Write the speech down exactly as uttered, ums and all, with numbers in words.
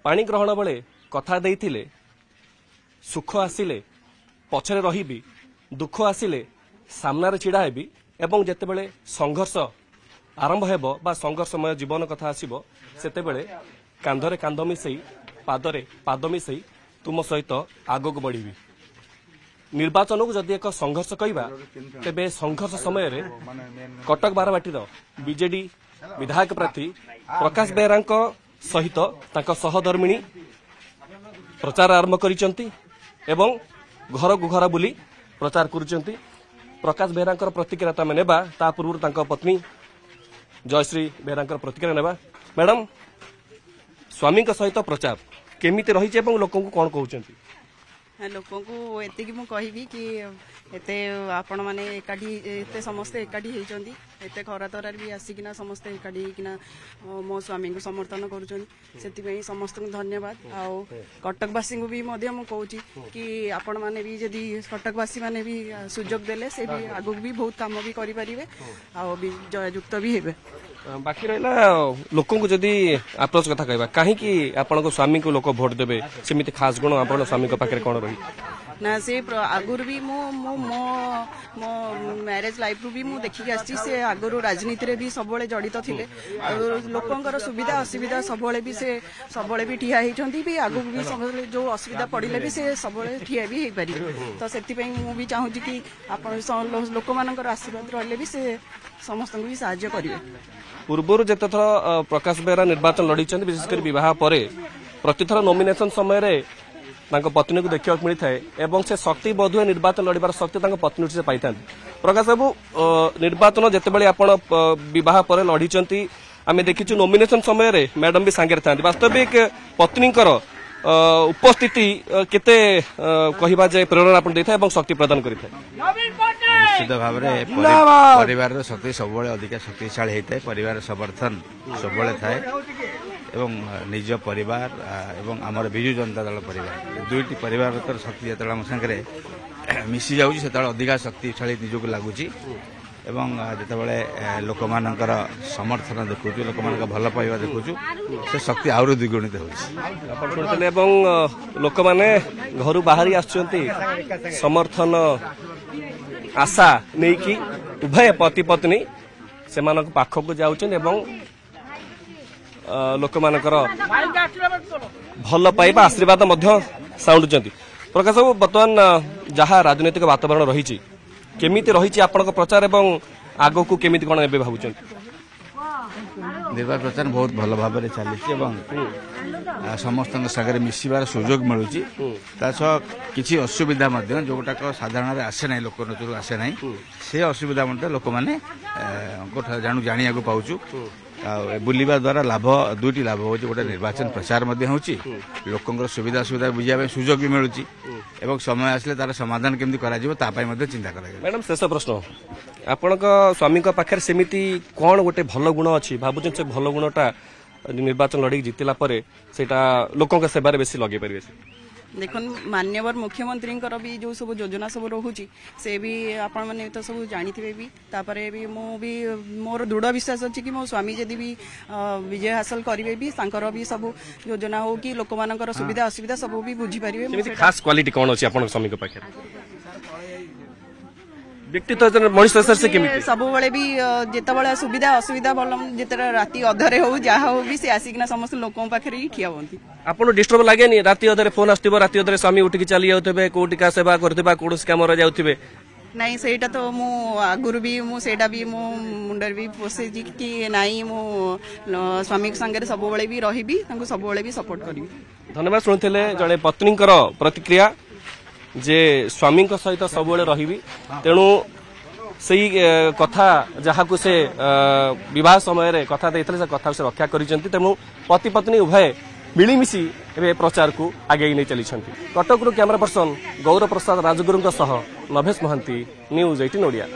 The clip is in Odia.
ପାଣି ଗ୍ରହଣ ବେଳେ କଥା ଦେଇଥିଲେ, ସୁଖ ଆସିଲେ ପଛରେ ରହିବି, ଦୁଃଖ ଆସିଲେ ସାମ୍ନାରେ ଛିଡ଼ା ହେବି ଏବଂ ଯେତେବେଳେ ସଂଘର୍ଷ ଆରମ୍ଭ ହେବ ବା ସଂଘର୍ଷମୟ ଜୀବନ କଥା ଆସିବ, ସେତେବେଳେ କାନ୍ଧରେ କାନ୍ଧ ମିଶେଇ, ପାଦରେ ପାଦ ମିଶେଇ ତୁମ ସହିତ ଆଗକୁ ବଢ଼ିବି। ନିର୍ବାଚନକୁ ଯଦି ଏକ ସଂଘର୍ଷ କହିବା, ତେବେ ସଂଘର୍ଷ ସମୟରେ କଟକ ବାରବାଟୀର ବିଜେଡି ବିଧାୟକ ପ୍ରାର୍ଥୀ ପ୍ରକାଶ ବେହେରାଙ୍କ ସହିତ ତାଙ୍କ ସହଧର୍ମିଣୀ ପ୍ରଚାର ଆରମ୍ଭ କରିଛନ୍ତି ଏବଂ ଘରକୁ ଘର ବୁଲି ପ୍ରଚାର କରୁଛନ୍ତି। ପ୍ରକାଶ ବେହେରାଙ୍କର ପ୍ରତିକ୍ରିୟା ତ ଆମେ ନେବା, ତା ପୂର୍ବରୁ ତାଙ୍କ ପତ୍ନୀ ଜୟଶ୍ରୀ ବେହେରାଙ୍କର ପ୍ରତିକ୍ରିୟା ନେବା। ମ୍ୟାଡାମ, ସ୍ୱାମୀଙ୍କ ସହିତ ପ୍ରଚାର କେମିତି ରହିଛି ଏବଂ ଲୋକଙ୍କୁ କ'ଣ କହୁଛନ୍ତି? ଲୋକଙ୍କୁ ଏତିକି ମୁଁ କହିବି କି ଏତେ ଆପଣମାନେ ଏକାଠି, ଏତେ ସମସ୍ତେ ଏକାଠି ହେଇଛନ୍ତି, ଏତେ ଖରା ତରାରେ ବି ଆସିକିନା ସମସ୍ତେ ଏକାଠି ହେଇକିନା ମୋ ସ୍ୱାମୀଙ୍କୁ ସମର୍ଥନ କରୁଛନ୍ତି, ସେଥିପାଇଁ ସମସ୍ତଙ୍କୁ ଧନ୍ୟବାଦ। ଆଉ କଟକବାସୀଙ୍କୁ ବି ମଧ୍ୟ ମୁଁ କହୁଛି କି ଆପଣମାନେ ବି ଯଦି କଟକବାସୀମାନେ ବି ସୁଯୋଗ ଦେଲେ, ସେ ବି ଆଗକୁ ବି ବହୁତ କାମ ବି କରିପାରିବେ ଆଉ ବି ଜୟଯୁକ୍ତ ବି ହେବେ। ବାକି ରହିଲା ଲୋକଙ୍କୁ ଯଦି ଆପ୍ରୋଚ୍ କଥା କହିବା, କାହିଁକି ଆପଣଙ୍କ ସ୍ୱାମୀଙ୍କୁ ଲୋକ ଭୋଟ ଦେବେ? ସେମିତି ଖାସ ଗୁଣ ଆପଣଙ୍କ ସ୍ୱାମୀଙ୍କ ପାଖରେ କ'ଣ ରହିଛି? ନା, ସେ ଆଗରୁ ବି ମୁଁ ମୁଁ ମୋ ମୋ ମ୍ୟାରେଜ ଲାଇଫରୁ ବି ମୁଁ ଦେଖିକି ଆସିଛି, ସେ ଆଗରୁ ରାଜନୀତିରେ ବି ସବୁବେଳେ ଜଡ଼ିତ ଥିଲେ ଆଉ ଲୋକଙ୍କର ସୁବିଧା ଅସୁବିଧା ସବୁବେଳେ ବି ସେ ସବୁବେଳେ ବି ଠିଆ ହେଇଛନ୍ତି ବି। ଆଗକୁ ବି ସବୁବେଳେ ଯୋଉ ଅସୁବିଧା ପଡ଼ିଲେ ବି ସେ ସବୁବେଳେ ଠିଆ ବି ହେଇପାରିବେ। ତ ସେଥିପାଇଁ ମୁଁ ବି ଚାହୁଁଛି କି ଆପଣ ଲୋକମାନଙ୍କର ଆଶୀର୍ବାଦ ରହିଲେ ବି ସେ ସମସ୍ତଙ୍କୁ ବି ସାହାଯ୍ୟ କରିବେ। ପୂର୍ବରୁ ଯେତେଥର ପ୍ରକାଶ ବେହେରା ନିର୍ବାଚନ ଲଢ଼ିଛନ୍ତି, ବିଶେଷ କରି ବିବାହ ପରେ, ପ୍ରତିଥର ନୋମିନେସନ ସମୟରେ ତାଙ୍କ ପତ୍ନୀକୁ ଦେଖିବାକୁ ମିଳିଥାଏ ଏବଂ ସେ ଶକ୍ତି ବୋଧହୁଏ ନିର୍ବାଚନ ଲଢ଼ିବାର ଶକ୍ତି ତାଙ୍କ ପତ୍ନୀଠୁ ସେ ପାଇଥାନ୍ତି। ପ୍ରକାଶ ବାବୁ, ନିର୍ବାଚନ ଯେତେବେଳେ ଆପଣ ବିବାହ ପରେ ଲଢ଼ିଛନ୍ତି, ଆମେ ଦେଖିଛୁ ନୋମିନେସନ ସମୟରେ ମ୍ୟାଡାମ ବି ସାଙ୍ଗରେ ଥାନ୍ତି। ବାସ୍ତବିକ ପତ୍ନୀଙ୍କର ଉପସ୍ଥିତି କେତେ କହିବା ଯେ ପ୍ରେରଣା ଆପଣ ଦେଇଥାଏ ଏବଂ ଶକ୍ତି ପ୍ରଦାନ କରିଥାଏ? ନିଶ୍ଚିତ ଭାବରେ ପରିବାରର ଶକ୍ତି ସବୁବେଳେ ଅଧିକା ଶକ୍ତିଶାଳୀ ହେଇଥାଏ, ପରିବାର ସମର୍ଥନ ସବୁବେଳେ ଥାଏ ଏବଂ ନିଜ ପରିବାର ଏବଂ ଆମର ବିଜୁ ଜନତା ଦଳ ପରିବାର, ଦୁଇଟି ପରିବାରର ଶକ୍ତି ଯେତେବେଳେ ଆମ ସାଙ୍ଗରେ ମିଶି ଯାଉଛି, ସେତେବେଳେ ଅଧିକା ଶକ୍ତିଶାଳୀ ନିଜକୁ ଲାଗୁଛି ଏବଂ ଯେତେବେଳେ ଲୋକମାନଙ୍କର ସମର୍ଥନ ଦେଖୁଛୁ, ଲୋକମାନଙ୍କ ଭଲ ପାଇବା ଦେଖୁଛୁ, ସେ ଶକ୍ତି ଆହୁରି ଦ୍ୱିଗୁଣିତ ହେଉଛି। ଆପଣ ଶୁଣିଥିଲେ ଏବଂ ଲୋକମାନେ ଘରୁ ବାହାରି ଆସୁଛନ୍ତି ସମର୍ଥନ ଆଶା ନେଇକି। ଉଭୟ ପତି ପତ୍ନୀ ସେମାନଙ୍କ ପାଖକୁ ଯାଉଛନ୍ତି ଏବଂ ଲୋକମାନଙ୍କର ଭଲ ପାଇବା ଆଶୀର୍ବାଦ ମଧ୍ୟ ସାଉଣ୍ଡୁଛନ୍ତି। ପ୍ରକାଶ ବାବୁ, ବର୍ତ୍ତମାନ ଯାହା ରାଜନୈତିକ ବାତାବରଣ ରହିଛି, କେମିତି ରହିଛି ଆପଣଙ୍କ ପ୍ରଚାର ଏବଂ ଆଗକୁ କେମିତି କ'ଣ ଏବେ ଭାବୁଛନ୍ତି? ନିର୍ବାଚନ ପ୍ରଚାର ବହୁତ ଭଲ ଭାବରେ ଚାଲିଛି ଏବଂ ସମସ୍ତଙ୍କ ସାଙ୍ଗରେ ମିଶିବାର ସୁଯୋଗ ମିଳୁଛି। ତା ସହ କିଛି ଅସୁବିଧା ମଧ୍ୟ ଯୋଉଟାକ ସାଧାରଣରେ ଆସେ ନାହିଁ, ଲୋକ ନଜରକୁ ଆସେ ନାହିଁ, ସେ ଅସୁବିଧା ମଧ୍ୟ ଲୋକମାନେ ଜାଣୁ ଜାଣିବାକୁ ପାଉଛୁ। ଆଉ ବୁଲିବା ଦ୍ୱାରା ଲାଭ ଦୁଇଟି ଲାଭ ହେଉଛି। ଗୋଟେ, ନିର୍ବାଚନ ପ୍ରଚାର ମଧ୍ୟ ହେଉଛି, ଲୋକଙ୍କର ସୁବିଧା ଅସୁବିଧା ବୁଝିବା ପାଇଁ ସୁଯୋଗ ବି ମିଳୁଛି ଏବଂ ସମୟ ଆସିଲେ ତାର ସମାଧାନ କେମିତି କରାଯିବ ତା ପାଇଁ ମଧ୍ୟ ଚିନ୍ତା କରାଯିବ। ମ୍ୟାଡାମ, ଶେଷ ପ୍ରଶ୍ନ, ଆପଣଙ୍କ ସ୍ୱାମୀଙ୍କ ପାଖରେ ସେମିତି କ'ଣ ଗୋଟେ ଭଲ ଗୁଣ ଅଛି ଭାବୁଛନ୍ତି, ସେ ଭଲ ଗୁଣଟା ନିର୍ବାଚନ ଲଢ଼ିକି ଜିତିଲା ପରେ ସେଇଟା ଲୋକଙ୍କ ସେବାରେ ବେଶୀ ଲଗେଇ ପାରିବେ? ଦେଖନ୍ତୁ, ମାନ୍ୟବର ମୁଖ୍ୟମନ୍ତ୍ରୀଙ୍କର ବି ଯେଉଁ ସବୁ ଯୋଜନା ସବୁ ରହୁଛି, ସେ ବି ଆପଣମାନେ ତ ସବୁ ଜାଣିଥିବେ ବି। ତାପରେ ବି ମୁଁ ବି ମୋର ଦୃଢ଼ ବିଶ୍ୱାସ ଅଛି କି ମୋ ସ୍ୱାମୀ ଯଦି ବି ବିଜୟ ହାସଲ କରିବେ ବି, ତାଙ୍କର ବି ସବୁ ଯୋଜନା ହଉ କି ଲୋକମାନଙ୍କର ସୁବିଧା ଅସୁବିଧା ସବୁ ବି ବୁଝିପାରିବେ। ଖାସ କ୍ୱାଲିଟି କ'ଣ ଅଛି ଆପଣଙ୍କ ସ୍ୱାମୀଙ୍କ ପାଖରେ? ବ୍ୟକ୍ତିତ୍ୱ ମଣିଷ ସେ କେମିତି? ସବୁବେଳେ ବି ଯେତେବେଳେ ସୁବିଧା ଅସୁବିଧା ଭଲ, ଯେତେବେଳେ ରାତି ଅଧରେ ହଉ ଯାହା ହଉ ବି, ସେ ଆସିକିନା ସମସ୍ତ ଲୋକଙ୍କ ପାଖରେ ହିଁ ଠିଆ ହୁଅନ୍ତି। ଆପଣ ଡିଷ୍ଟର୍ବ ଲାଗେନି? ରାତି ଅଧରେ ଫୋନ ଆସୁଥିବ, ରାତି ଅଧରେ ସ୍ୱାମୀ ଉଠିକି ଚାଲି ଯାଉଥିବେ, କୋଉଠି କାହା ସେବା କରୁଥିବେ, କୌଣସି କାମରେ ଯାଉଥିବେ। ନାଇଁ, ସେଇଟା ତ ମୁଁ ଆଗରୁ ବି ମୁଁ ସେଇଟା ବି ମୋ ମୁଣ୍ଡରେ ବି ପଶେଇଛି କି ନାଇଁ, ମୁଁ ସ୍ୱାମୀଙ୍କ ସାଙ୍ଗରେ ସବୁବେଳେ ବି ରହିବି, ତାଙ୍କୁ ସବୁବେଳେ ବି ସପୋର୍ଟ କରିବି। ଧନ୍ୟବାଦ। ଶୁଣୁଥିଲେ ଜଣେ ପତ୍ନୀଙ୍କର ପ୍ରତିକ୍ରିୟା ଯେ ସ୍ୱାମୀଙ୍କ ସହିତ ସବୁବେଳେ ରହିବି। ତେଣୁ ସେଇ କଥା ଯାହାକୁ ସେ ବିବାହ ସମୟରେ କଥା ଦେଇଥିଲେ, ସେ କଥାକୁ ସେ ରକ୍ଷା କରିଛନ୍ତି। ତେଣୁ ପତି ପତ୍ନୀ ଉଭୟ ମିଳିମିଶି ଏବେ ପ୍ରଚାରକୁ ଆଗେଇ ନେଇ ଚାଲିଛନ୍ତି। କଟକରୁ କ୍ୟାମେରା ପର୍ସନ ଗୌର ପ୍ରସାଦ ରାଜଗୁରୁଙ୍କ ସହ ନଭେଶ ମହାନ୍ତି, ନ୍ୟୁଜ୍ ଏଇଟିନ୍ ଓଡ଼ିଆ।